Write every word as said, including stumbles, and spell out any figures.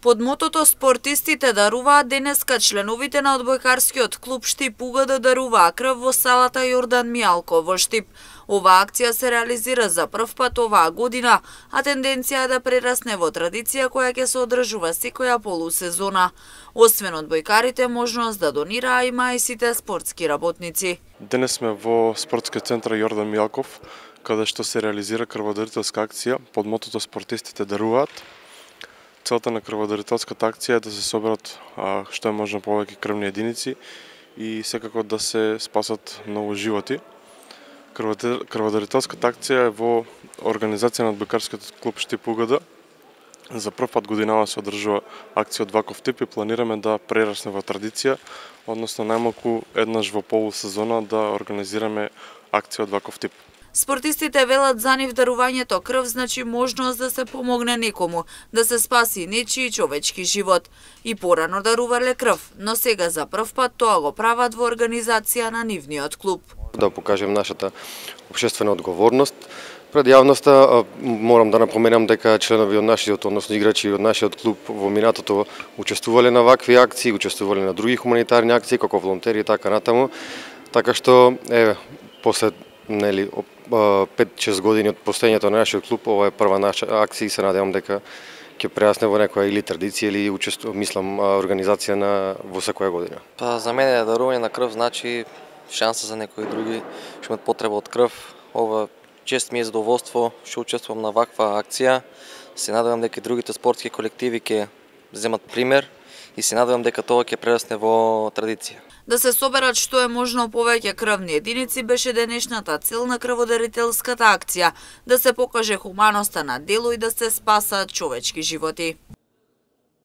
Под мотото "Спортистите даруваат", денеска членовите на одбојкарскиот клуб Штип УГД даруваа крв во салата Јордан Мијалко во Штип. Оваа акција се реализира за прв пат оваа година, а тенденција е да прерасне во традиција која ќе се одржува секоја полусезона. Освен одбојкарите, можност да донираа има и сите спортски работници. Денес сме во спортскиот центар Јордан Мијалков, каде што се реализира крводарителска акција под мотото "Спортистите даруваат". Целта на крводарителската акција е да се соберат а, што е можно повеќе крвни единици и секако да се спасат многу животи. Крводарителската акција е во организација на одбојкарскиот клуб Штип УГД. За прв пат годинава се одржува акција од ваков тип и планираме да прерасне во традиција, односно најмалку еднаш во полусезона да организираме акција од ваков тип. Спортистите велат за нив дарувањето крв значи можност да се помогне некому, да се спаси нечии човечки живот. И порано дарувале крв, но сега за прв пат тоа го прават во организација на нивниот клуб. Да покажем нашата општествена одговорност пред јавноста. Морам да напоменам дека членови од нашиот, односно играчи од нашиот клуб во минатото учествувале на вакви акции, учествувале на други хуманитарни акции како волонтери и така натаму. Така што е после нели пет-шест години од постоењето на нашиот клуб, ова е прва наша акција и се надевам дека ќе прерасне во некоја или традиција или учество, мислам, организација на во секоја година. Па за мене дарување на крв значи шанса за некои други што имаат потреба од крв. Ова чест ми е задоволство што учествувам на ваква акција. Се надевам дека другите спортски колективи ќе земат пример и се надевам дека тоа ќе прерасне во традиција. Да се соберат што е можно повеќе крвни единици беше денешната цел на крводарителската акција, да се покаже хуманоста на дело и да се спасат човечки животи.